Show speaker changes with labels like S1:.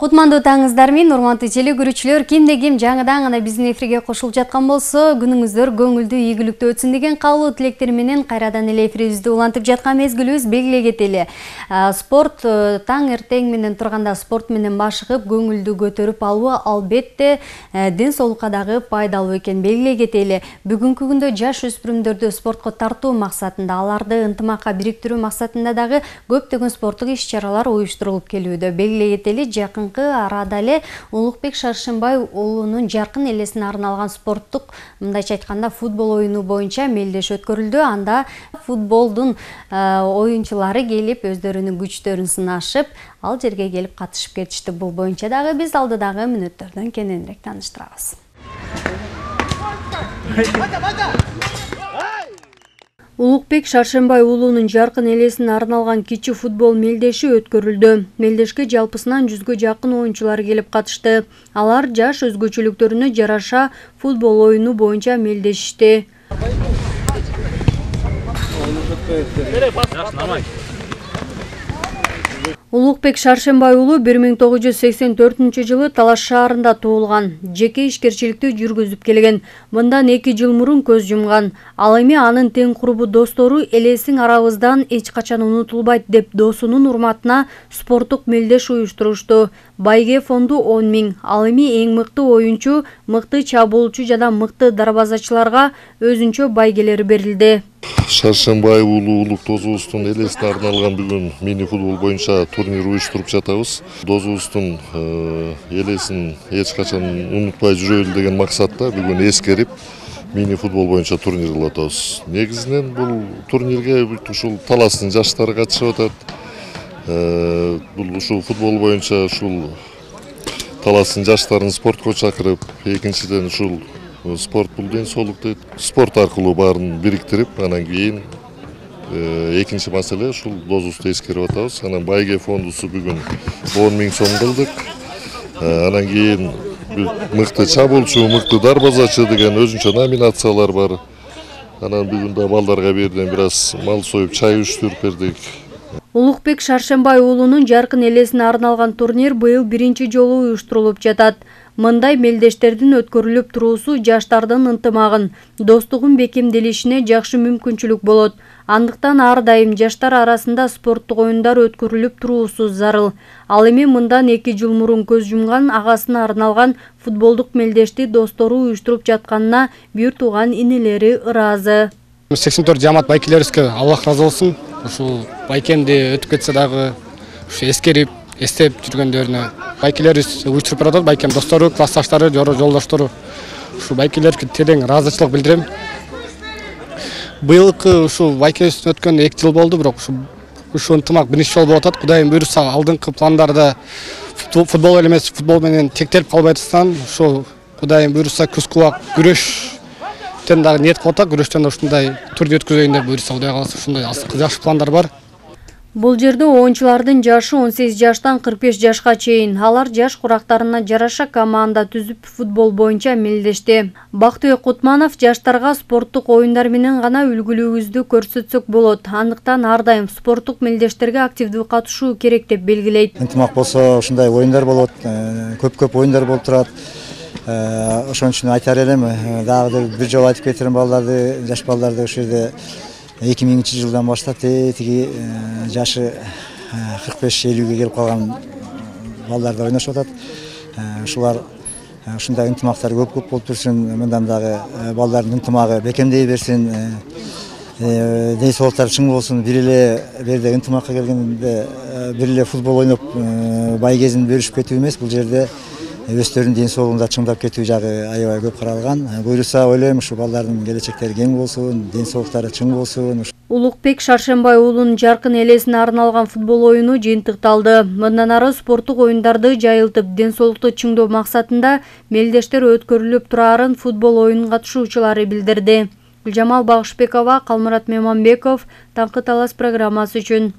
S1: Кутмандуу таңыңыздар менен урматтуу телекөрүүчүлөр, кимде ким жаңыдан гана биздин эфирге кошулуп жаткан болсо, күнүңүздөр көңүлдүү, ийгиликтүү өтсүн деген каалоо тилектер менен кайрадан эле эфирибизди улантып жаткан мезгилибиз белгилей кетели. Спорт таң эртең менен турганда спорт менен башыгып, көңүлдү көтөрүп алуу албетте ден соолукка дагы пайдалуу экен белгилей кетели. Бүгүнкү күндө жаш өспүрүмдөрдү спортко тартуу максатында, аларды ынтымакка бириктирүү максатында дагы көптөгөн спорттук иш-чаралар уюштурулуп келүүдө. Белгилей кетели, жакынкы арада эле Улукбек Шаршембай уулунун жаркын элесине арналган спорттук, мындайча айтканда, футбол оюну боюнча мелдеш өткөрүлдү. Анда футболдун оюнчулары келип, өздөрүнүн күчтөрүн сынашып, ал жерге келип катышып кетишти. Бул боюнча дагы биз алдыдагы мүнөттөрдөн кененирээк тааныштырабыз. Улукбек Шаршембай уулунун жаркын элесине арналган кичи футбол мелдеши өткөрүлдү. Мелдешке жалпысынан 100гө жакын оюнчулар келип катышты. Алар жаш өзгөчөлүктөрүнө жараша футбол оюну боюнча мелдешишти. Улукбек Шаршембай уулу 1984-жылы Талаш шаарында туулган. Жеке ишкерчиликти жүргүзүп келген. Мындан 2 жыл мурун көз жумган. Ал эми анын тең курбу достору элесиң арабыздан эч качан унутулбайт деп досунун урматына спорттук мелдеш уюштурушту. Байге фонду 10 000. Ал эми эң мыкты оюнчу, мыкты чабуулчу жана мыкты дарбазачыларга өзүнчө байгелер берилди.
S2: Шаршембай уулу улук досубуздун элесине арналган бүгүн мини футбол боюнча турнир уюштуруп жатабыз. Досубуздун элесин эч качан унутпай жүрөлү деген максатта бүгүн эскерип мини футбол боюнча турнир кылып атабыз. Негизинен бул турнирге ушул Таластын жаштары катышып атат. Бул ушул футбол боюнча ушул Таластын жаштарын спортко чакырып, экинчиден ушул спорт бул ден соолукту спорт аркылуу баарын бириктирип, анан кийин экинчи маселе ушул досубузду эскерип атабыз. Анан Байге фондусу бүгүн 10 000 сом кылдык. Анан кийин мыкты чабуулчу, мыкты дарбазачы деген өзүнчө номинациялар бар. Анан бүгүн да балдарга берден бир аз мал союп, чай уюштуруп бердик.
S1: Улукбек Шаршембай уулунун жаркын элесине арналган турнир быйыл биринчи жолу уюштурулуп жатат. Мындай мелдештердин өткөрүлүп туруусу жаштардын ынтымагын, достугун бекемделишине жакшы мүмкүнчүлүк болот. Андыктан ар дайым жаштар арасында спорттук оюндар өткөрүлүп туруусу зарыл. Ал эми мындан 2 жыл мурун көз жумган агасына арналган футболдук мелдешти достору уюштуруп жатканына бир тууган инелери ыраазы.
S3: 84 жамаат байкелерибизге Аллах ыраазы болсун. Ушул байкемди өтүп кетсе дагы ушу эскерип, эстеп жүргөндөрүнө байкелерибиз уюштуруп баратат. Байкем достору, классташтары, жолдоштору. Ушу байкелерге терең ыраазычылык билдирем. Быйылкы ушул байкебиз өткөн 2 жыл болду, бирок ушу ынтымак биринчи жолу болуп атат. Кудайым буйруса, алдыңкы пландарда футбол эмес, футбол менен тектелип калбай атсам, ушул Кудайым буйруса күзгү убак күрөштөн дагы ниет кылып атат. Күрөштөн ушундай турнир өткөзөйүн деп буйруса, Кудай кааласа ушундай жакшы пландар бар.
S1: Бул жерде оюнчулардын жашы 18 жаштан 45 жашка чейин. Алар жаш курактарына жараша команда түзүп футбол боюнча мелдешти. Бактыбек Кутманов жаштарга спорттук оюндар менен гана үлгүлүүбүздү көрсөтсөк болот. Андыктан ар дайым спорттук мелдештерге активдүү катышуу керек деп белгилейт.
S4: Ынтымак болсо ушундай оюндар болот, көп оюндар болуп турат. Ошон үчүн айтар элем, дагы бир жолу айтып кетирем балдарды, жаш балдарды ошол жерде 2000-жылдан баштап тиги жашы 45-50-ге келип калган балдар ойношуп атат. Ушулар ушундай ынтымактар көп болуп турсун, мындан дагы балдардын ынтымагы бекемдей берсин, ден соолуктары чың болсун. Бир эле берде ынтымакка келгенде бир эле футбол ойноп байгезин бөлүшүп кетүү эмес, бул жерде өздөрүнүн ден соолугунда чыңдап кетүү жагы аябай көп каралган. Буйруса ойлойм, ушу балдардын келечектери кең болсун, ден соолуктары чың болсун.
S1: Улукбек Шаршембай уулунун жаркын элесине арналган футбол оюну жыйынтыкталды. Мындан ары спорттук оюндарды жайылтып, ден соолукту чыңдоо максатында мелдештер өткөрүлүп турарын футбол оюнунун катышуучулары билдирди. Гүлжамал Багышбекова, Калмурат Меманбеков, Таңкы Талас программасы үчүн.